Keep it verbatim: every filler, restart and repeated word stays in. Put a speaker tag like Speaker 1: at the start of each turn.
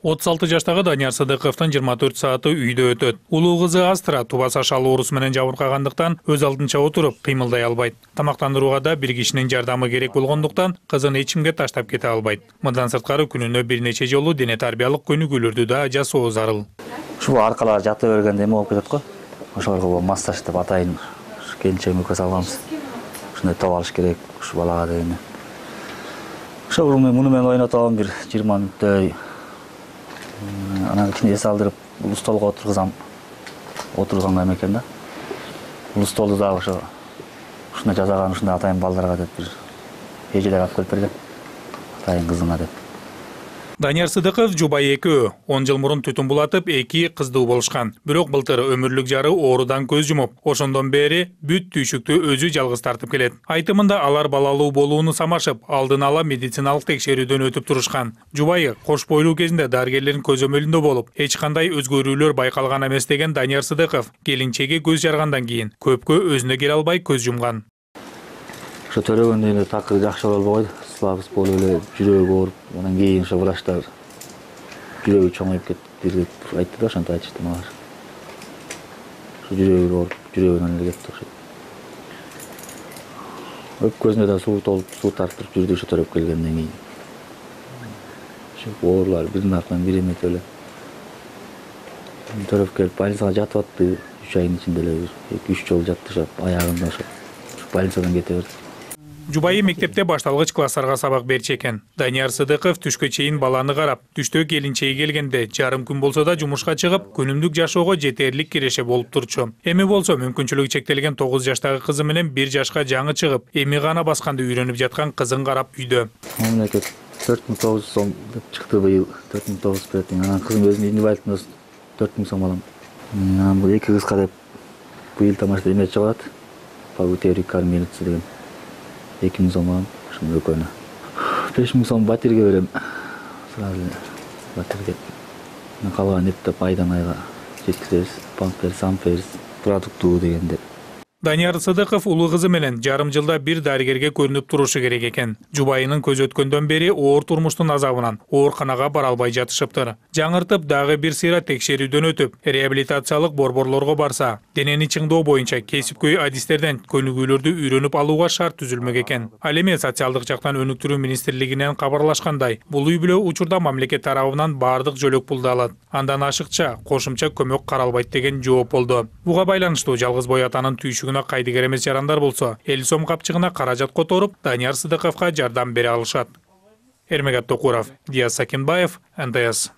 Speaker 1: отуз алты жаштагы Данияр Сыдыковдун жыйырма төрт сааты үйдө өтөт. Улуу кызы Астра тубаса шал оорусу менен жабыркагандыктан өз алдынча отуруп кыймылдай албайт. Тамактандырууга да бир кишинин жардамы керек болгондуктан кызын эч кимге таштап кете албайт. Мындан сырткары күнүнө бир нече жолу дене тарбиялык көнүгүүлөрдү да жасоо зарыл.
Speaker 2: Ушул аркалар жата бергенде эме болуп кетет го. Ошолорго массаж деп атайын. Келинчегиме көз алганбыз. Ушундай топ алыш керек ушу балага деген. Ошол муну менен ойнотом бир жыйырма мүнөттөй. Анан кийин эс алдырып, бул столго отургузам. Отурганга эме экен да. Бул столду дагы ошо ушундай жасаган, ушундай атайын балдарга деп бир эжелер алып келип берген. Атайын кызыңа деп.
Speaker 1: Данияр Сыдыков жубайы экөө. он жыл мурун түтүн булатып, эки кыздуу болушкан. Бирок былтыр өмүрлүк жары оорудан көз жумуп, ошондон бери бүт түйшүктү өзү жалгыз тартып келет. Айтымында алар балалуу болууну самашып, алдын ала медициналык текшерүүдөн өтүп турушкан. Жубайы кош бойлуу кезинде дарыгерлердин көзөмөлүндө болуп, эч кандай өзгөрүүлөр байкалган эмес деген Данияр Сыдыков келинчеги көз жаргандан кийин көпкө өзүнө келе албай көз жумган.
Speaker 2: Ошо төрөгөндөн эле такыр жакшы боло албай койду. Слабость болуп эле жүрөгү ооруп, анан кийин ошо врачтар жүрөгү чоңоюп кетти деп айтты да, ошентип айтышты мага. Ошо жүрөгү ооруп, жүрөгүнөн эле кетти окшойт. Өпкөсүнө да суу толуп, суу тартып жүрдү ошо төрөп келгенден кийин. Ошо оорулар биринин артынан бири эметип эле. Төрөп келип больницага жатып атты. үч айдын ичинде эле эки үч жолу жатты ошо аягында ошо. Больницадан кете берди.
Speaker 1: Жубайы мектепте башталгыч класстарга сабак берчү экен. Данияр Сыдыков түшкө чейин баланы карап, түштө келинчеги келгенде жарым күн болсо да жумушка чыгып, күнүмдүк жашоого жетерлик киреше болуп турчу. Эми болсо мүмкүнчүлүгү чектелген тогуз жаштагы кызы менен бир жашка жаңы чыгып, эми гана басканды үйрөнүп жаткан кызын карап үйдө.
Speaker 2: Мамлекет төрт миң тогуз жүз сом деп чыкты быйыл. төрт миң тогуз жүз берет. Анан кызым өзүнүн инвалидтин төрт миң сом алам. Анан бул эки кызга деп быйыл тамашада эме чыгат. Пагутерик кармелица деген. эки миң сом алам, ошону экөөнө. беш миң сом батирге берем. Сразу батирге. Калган эптеп айдан айга жеткизебиз. Памперс, амперс, продуктуу дегенде.
Speaker 1: Данияр Сыдыков улуу кызы менен жарым жылда бир дарыгерге көрүнүп турушу керек экен. Жубайынын көз өткөндөн бери оор турмуштун азабынан ооруканага бара албай жатышыптыр. Жаңыртып дагы бир сыйра текшерүүдөн өтүп, реабилитациялык борборлорго барса, денени чыңдоо боюнча кесипкөй адистерден көнүгүүлөрдү үйрөнүп алууга шарт түзүлмөк экен. Ал эми социалдык жактан өнүктүрүү министрлигинен кабарлашкандай, бул үй бүлө учурда мамлекет тарабынан баардык жөлөк пулду алат. Андан ашыкча кошумча көмөк каралбайт деген жооп болду. Буга байланыштуу жалгыз бой атанын түйшүгү кайдыгер эмес жарандар болсо, элүү сом капчыгына каражат которуп, Данияр Сыдыковго жардам бере алышат. Эрмегат Токуров, Диас Сакинбаев, эн тэ эс.